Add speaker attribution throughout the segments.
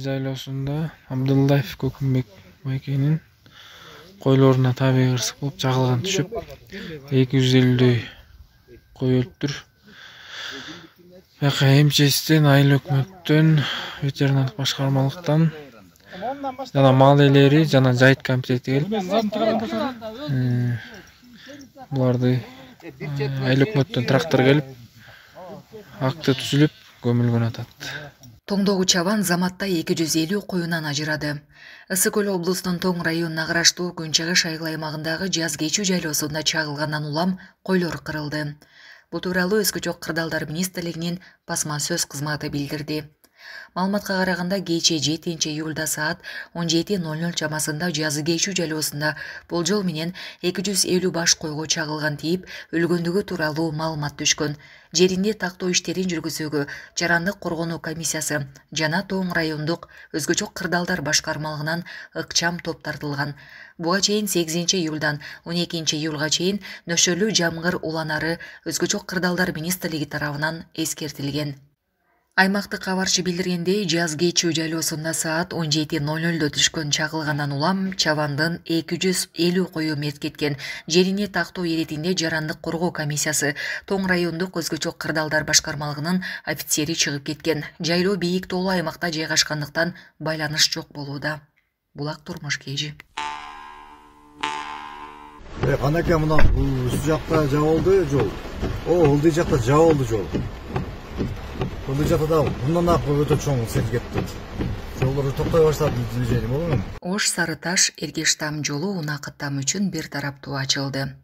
Speaker 1: жайлоосунда Абдуллаев Көкүмбек байкенин койлоруна табигый кырсык болуп чагылган түшүп 250дөй кой өлүптүр. МЧСтен, айыл өкмөттөн, ветеринардык башкармалыктан жана мал ээлери жана жайыт комитети келип буларды айыл өкмөттөн трактор келип акты түзүлүп көмүлгөн атат.
Speaker 2: Тоңдогу чабан Заматта 250 коюнан ажырады. Ысык Көл облусунун Тоң районуна караштуу Күнчыгыш айыл аймагындагы жаз кечүү жайлоосунда чагылгандан улам койлор кырылды. Бул тууралуу Өскө чок кырдаалдар министрлигинин басма сөз кызматы билдирди. Маалыматка караганда кечээ 7-июлда саат 17:00 чамасында жазы кечүү жайлоосунда болжол менен 250 баш койго чагылган тийип, өлгөндүгү тууралуу маалымат түшкөн. Жеринде тактоо иштерин жүргүзүүгө Жарандык коргонуу комиссиясы жана Тоң райондук Өскө чок кырдаалдар башкармалыгынан ыкчам топ тартылган. Буга чейин 8-июлдан 12-июлга чейин нөшөрлүү жамгыр уланары Өскө чок кырдаалдар министрлиги тарабынан эскертилген. Аймактык кабарчы билдиргендей, жаз кечүү жайлоосунда саат 17:00 түшкөн чагылгандан улам чабандын 250 кою мерт кеткен. Жерине тактоо иретинде Жарандык коргоо комиссиясы Тоң райондук Өскө чок кырдаалдар башкармалыгынын офицери чыгып кеткен. Жайлоо бийик тоолуу аймакта жайгашкандыктан байланыш жок болууда. Булак турмуш кежи.
Speaker 3: Канаке мына үстү жакта жабылды жол. Ылдый жакта жабылды жол. Ылдый жакта да мындан ак өтө чоң сел кетти. Жолдор токтой баштады движение болду.
Speaker 2: Ош Сарыташ Эргештам жолу унаа каттам үчүн бир тараптуу ачылды.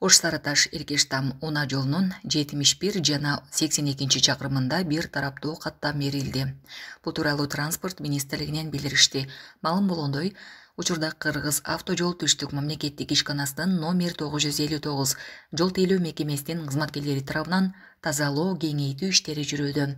Speaker 2: Ош Сарыташ Эргештам унаа жолунун 71 жана 82 чакырымында бир тараптуу каттам берилди. Бул тууралуу транспорт министрлигинен билдиришти. Маалым болгондой, учурда Кыргыз автожол түштүк мамлекеттик ишканасынын номер 959 жол тейлөө мекемесинин кызматкерлери тарабынан тазалоо кеңейтүү иштери жүрүүдө.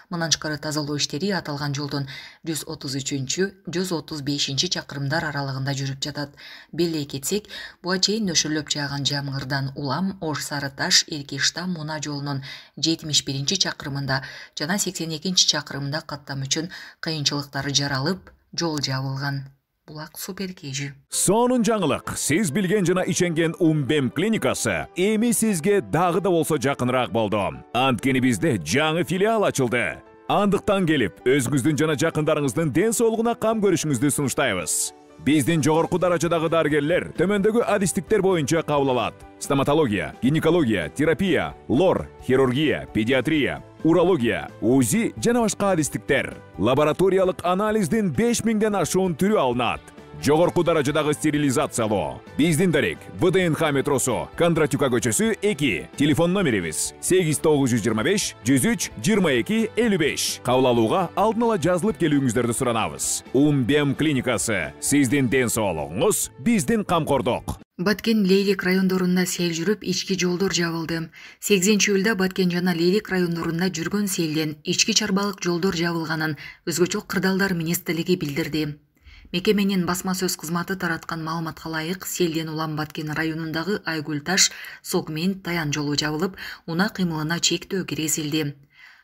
Speaker 2: Мындан тышкары тазалоо иштери аталган жолдун 133-135 чакырымдар аралыгында жүрүп жатат. Беле кетсек, буга чейин нөшөрлөп жааган жамгырдан улам Ош Сарыташ Эргештам унаа жолунун 71 чакырымында жана 82 чакырымында каттам үчүн кыйынчылыктар жаралып, жол жабылган. Булак супер кежи.
Speaker 4: Сонун жаңылык. Сиз билген жана иченген Умбем клиникасы эми сизге дагы да болсо жакыныраак болду. Анткени бизде жаңы филиал ачылды. Андыктан келип, өзүңүздүн жана жакындарыңыздын ден соолугуна кам көрүшүңүздү сунуштайбыз. Биздин жогорку даражадагы дарыгерлер төмөндөгү адистиктер боюнча кабыл алат. Стоматология, гинекология, терапия, лор, хирургия, педиатрия, урология, УЗИ жана башка адистиктер. Лабораториялык анализдин 5000ден ашуун түрү алынат. Жогорку даражадагы стерилизациялоо. Биздин дарек ВДНХ метросу, Кондратюка көчөсү 2. Телефон номерибиз 8925 103 22 55. Кабыл алууга алдын ала жазылып келүүңүздөрдү суранабыз. Умбем клиникасы. Сиздин ден соолугуңуз, биздин камкордук.
Speaker 2: Баткен Лейлик райондорунда сел жүрүп, ички жолдор жабылды. 8-июлда Баткен жана Лейлик райондорунда жүргөн селден ички чарбалык жолдор жабылганын Өскө чок кырдаалдар министрлиги билдирди. Мекеменин басма сөз кызматы тараткан маалыматка ылайык, селден улам Баткен районундагы Айгүл-Таш, Сокмен, Таян жолу жабылып, унаа кыймылына чектөө киргизилди.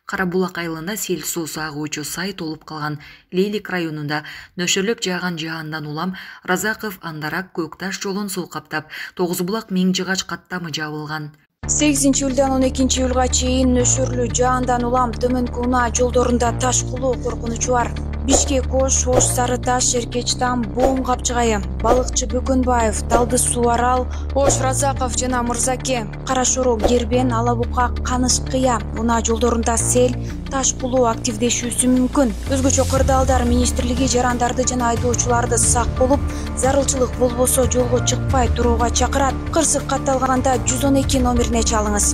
Speaker 2: Карабулак айылында сел суусу агуучу сай толуп калган. Лейлик районунда нөшөрлөп жааган жаандан улам Разаков Андарак Көкташ жолун суу каптап, Тогузбулак Миңжыгач каттамы жабылган.
Speaker 5: 8-июлдан 12-июлга чейин нөшөрлүү жаандан улам төмөнкү унаа жолдорунда таш кулуу коркунучу бар. Бишкек Ош, Ош Сарыташ, Эркечтам, Боом Капчыгайы, Балыкчы Бөкөнбаев, Талды Суу Арал, Ош Разаков жана Мырзаке, Кара Шороо Гербен, Алабука, Каныш Кыя унаа жолдорунда сел, таш кулуу активдешүүсү мүмкүн. Өзгө чок кырдаалдар министрлиги жарандарды жана айдоочуларды сак болуп, зарылчылык болбосо жолго чыкпай турууга чакырат. Кырсык катталганда 112 номерине чалыңыз.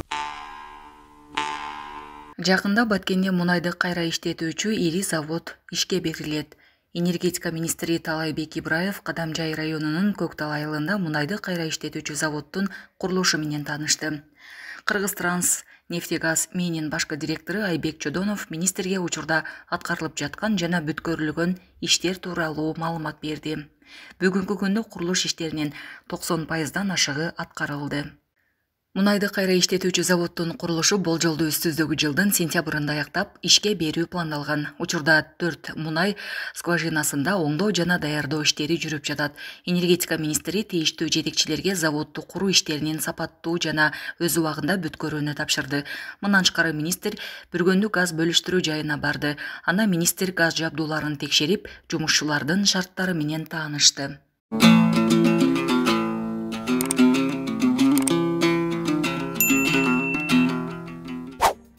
Speaker 2: Жакында Баткенде мунайды кайра иштетүүчү ири завод ишке берилет. Энергетика министри Талайбек Ибраев Кадамжай районунун Көктал айылында мунайды кайра иштетүүчү заводдун курулушу менен таанышты. Кыргызтранс нефтегаз менин башкы директору Айбек Чодонов министрге учурда аткарылып жаткан жана бүткөрүлгөн иштер тууралуу маалымат берди. Бүгүнкү күндө курулуш иштеринин 90%дан ашыгы аткарылды. Мунайды кайра иштетүүчү заводдун курулушу болжолдуу үстүздөгү жылдын сентябрында аяктап ишке берүү пландалган. Учурда 4 мунай скважинасында оңдоо жана даярдоо иштери жүрүп жатат. Энергетика министри тийиштүү жетекчилерге заводду куруу иштеринин сапаттуу жана өз убагында бүткөрүүнү тапшырды. Мындан тышкары министр бүргөндү газ бөлүштүрүү жайына барды. Анда министр газ жабдууларын текшерип, жумушчулардын шарттары менен таанышты.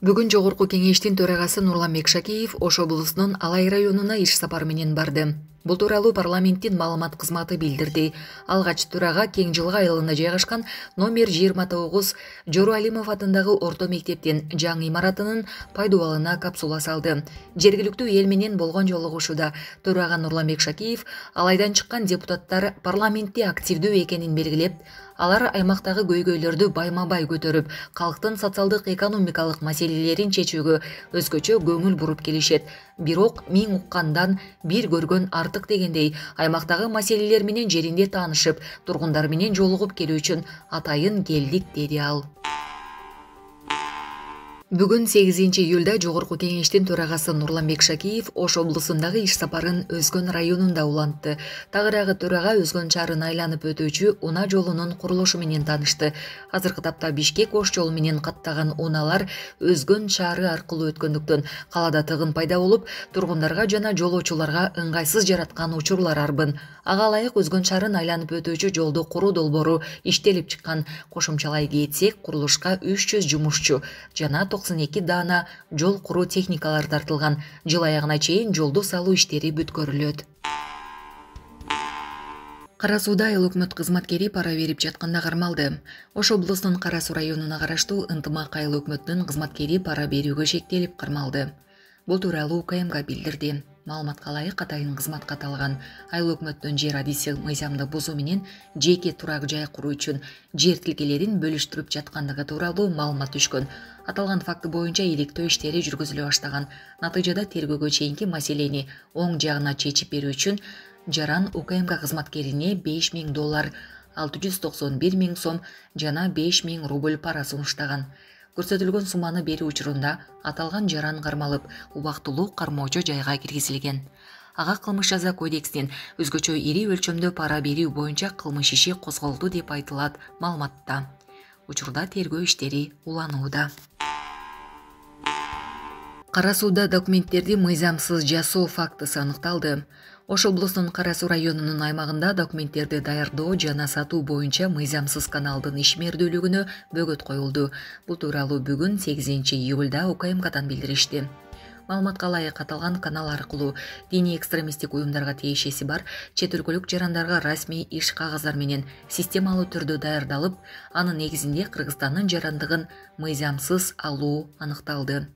Speaker 2: Бүгүн Жогорку кеңештин төрагасы Нурланбек Шакеев Ош облусунун Алай районуна иш сапары менен барды. Бул тууралуу парламенттин маалымат кызматы билдирди. Алгач төрага Кең Жылга айылында жайгашкан номер 29 Жору Алимов атындагы орто мектептин жаңы имаратынын пайдубалына капсула салды. Жергиликтүү эл менен болгон жолугушууда төрага Нурланбек Шакеев Алайдан чыккан депутаттар парламентте активдүү экенин белгилеп, алар аймактагы көйгөйлөрдү байма-бай көтөрүп, калктын социалдык экономикалык маселелерин чечүүгө өзгөчө көңүл буруп келишет. Бирок миң уккандан бир көргөн артык дегендей, аймактагы маселелер менен жеринде таанышып, тургундар менен жолугуп келүү үчүн атайын келдик, деди ал. Бүгүн 8 июлда Жогорку кеңештин төрагасы Нурланбек Шакеев Ош облусундагы иш сапарын Өзгөн районунда улантты. Тагыраагы төрага Өзгөн шаарын айланып өтүүчү унаа жолунун курулушу менен таанышты. Азыркы тапта Бишкек Ош жолу менен каттаган унаалар Өзгөн шаары аркылуу өткөндүктөн калаада тыгын пайда болуп, тургундарга жана жолоочуларга ыңгайсыз жараткан учурлар арбын. Ага ылайык Өзгөн шаарын айланып өтүүчү жолду куруу долбоору иштелип чыккан. Кошумчалай кетсек, курулушка 300 жумушчу жана 92 даана жол куруу техникалар тартылган. Жыл аягына чейин жолду салуу иштери бүткөрүлөт. Кара Сууда айыл өкмөт кызматкери пара берип жатканда кармалды. Ош облусунун Кара Суу районуна караштуу Ынтымак айыл өкмөтүнүн кызматкери пара берүүгө шектелип кармалды. Бул тууралуу УКМК билдирди. Маалыматка ылайык атайын кызматка аталган айыл өкмөттүн жер адиси мыйзамды бузуу менен жеке турак жай куруу үчүн жер тилкелерин бөлүштүрүп жаткандыгы тууралуу маалымат түшкөн. Аталган факты боюнча иликтөө иштери жүргүзүлө баштаган. Натыйжада тергөөгө чейинки маселени оң жагына чечип берүү үчүн жаран УКМК кызматкерине $5000, 691 000 сом жана 5000 рубль пара сунуштаган. Көрсөтүлгөн сумманы берүү учурунда аталган жаран кармалып, убактылуу кармоочу жайга киргизилген. Ага кылмыш жаза кодексинин өзгөчө ири өлчөмдө пара берүү боюнча кылмыш иши козголду деп айтылат маалыматта. Учурда тергөө иштери уланууда. Кара Сууда документтерди мыйзамсыз жасоо фактысы аныкталды. Ош облусунун Кара Суу районунун аймагында документтерди даярдоо жана сатуу боюнча мыйзамсыз каналдын ишмердүүлүгүнө бөгөт коюлду. Бул тууралуу бүгүн 8 июлда УКМКдан билдиришти. Маалыматка ылайык аталган канал аркылуу диний экстремисттик уюмдарга тиешеси бар чет өлкөлүк жарандарга расмий иш кагаздар менен системалуу түрдө даярдалып, анын негизинде Кыргызстандын жарандыгын мыйзамсыз алуу аныкталды.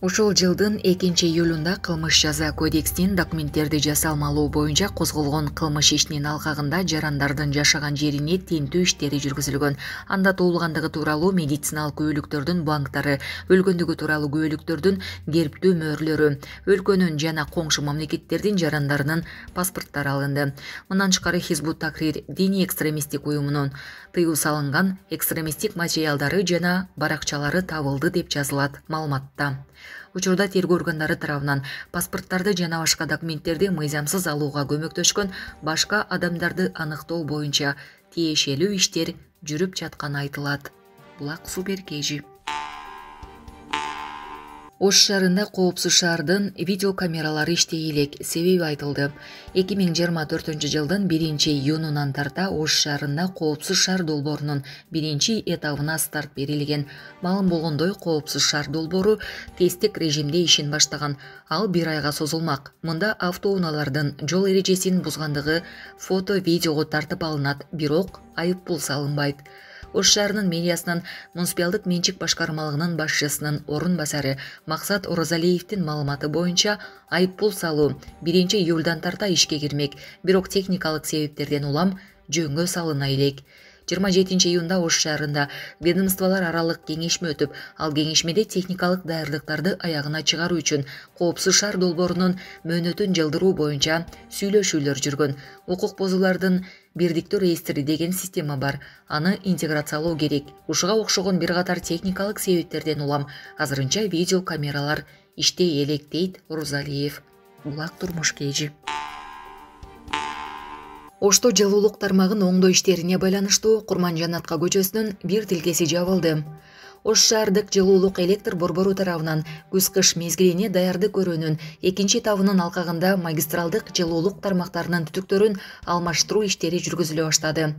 Speaker 2: Ушул жылдын 2 июлунда кылмыш жаза кодексинин документтерди жасалмалоо боюнча козголгон кылмыш ишинин алкагында жарандардын жашаган жерине тинтүү иштери жүргүзүлгөн. Анда туулгандыгы тууралуу медициналык күбөлүктөрдүн банктары, өлгөндүгү тууралуу күбөлүктөрдүн керптүү мөөрлөрү, өлкөнүн жана коңшу мамлекеттердин жарандарынын паспорттары алынды. Мындан тышкары Хизбут Такрир диний экстремисттик уюмунун тыюу салынган экстремисттик материалдары жана баракчалары табылды деп жазылат маалыматта. Учурда тергөө органдары тарабынан паспорттарды жана башка документтерди мыйзамсыз алууга көмөктөшкөн башка адамдарды аныктоо боюнча тиешелүү иштер жүрүп жатканы айтылат. Булак Супер KG. Ош шаарында коопсуз шаардын видеокамералары иштей элек, себеби айтылды. 2024 жылдын 1 июнунан тарта Ош шаарында коопсуз шаар долбоорунун 1 этабына старт берилген. Маалым болгондой, коопсуз шаар долбоору тесттик режимде ишин баштаган. Ал 1 айга созулмак. Мында автоунаалардын жол эрежесин бузгандыгы фото-видеого тартып алынат, бирок айып пул салынбайт. Ош шаарынын мэриясынын муниципалдык менчик башкармалыгынын башчысынын орун басары Максат Оразалиевдин маалыматы боюнча айып пул салуу 1 июлдан тарта ишке кирмек, бирок техникалык себептерден улам жөнгө салына элек. 27 июнда Ош шаарында ведомстволор аралык кеңешме өтүп, ал кеңешмеде техникалык даярдыктарды аягына чыгаруу үчүн коопсуз шаар долбоорунун мөөнөтүн жылдыруу боюнча сүйлөшүүлөр жүргөн. Укук бузуулардын бирдиктүү реестри деген система бар. Аны интеграциялоо керек. Ушуга окшогон бир катар техникалык себептерден улам азырынча видео камералар иштей элек, дейт Орузалиев. Булак турмуш кежи. Ошто жылуулук тармагын оңдоо иштерине байланыштуу Курманжанатка көчөсүнүн бир тилкеси жабылды. Ош шаардык жылуулук электр борбору тарабынан күз-кыш мезгилине даярдык көрүүнүн экинчи этабынын алкагында магистралдык жылуулук тармактарынын түтүктөрүн алмаштыруу иштери жүргүзүлө баштады.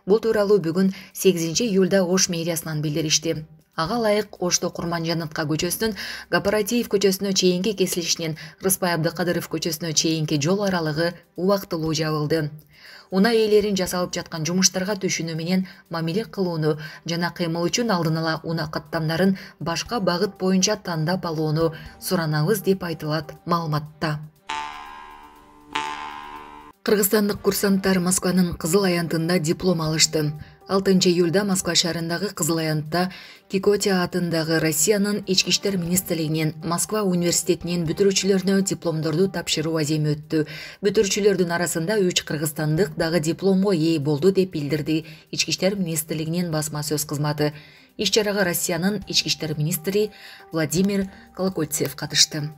Speaker 2: Бул тууралуу бүгүн 8 июлда Ош мэриясынан билдиришти. Ага ылайык Ошто Курманжанатка көчөсүнүн Кооператив көчөсүнө чейинки кесилишинен Рыспай Абдыкадыров көчөсүнө чейинки жол аралыгы убактылуу жабылды. Унаа ээлерин жасалып жаткан жумуштарга түшүнүү менен мамиле кылууну жана кыймыл үчүн алдын ала унаа каттамдарын башка багыт боюнча тандап алууну суранабыз деп айтылат маалыматта. Кыргызстандык курсанттар Москванын Кызыл аянтында диплом алышты. 6 июлда Москва шаарындагы Кызыл аянтта Кикотия атындагы Россиянын Ички иштер министрлигинен Москва университетинин бүтүрүүчүлөрүнө дипломдорду тапшыруу аземи өттү. Бүтүрүүчүлөрдүн арасында 3 кыргызстандык дагы дипломго ээ болду деп билдирди Ички иштер министрлигинин басма сөз кызматы. Иш-чарага Россиянын Ички иштер министри Владимир Колокольцев катышты.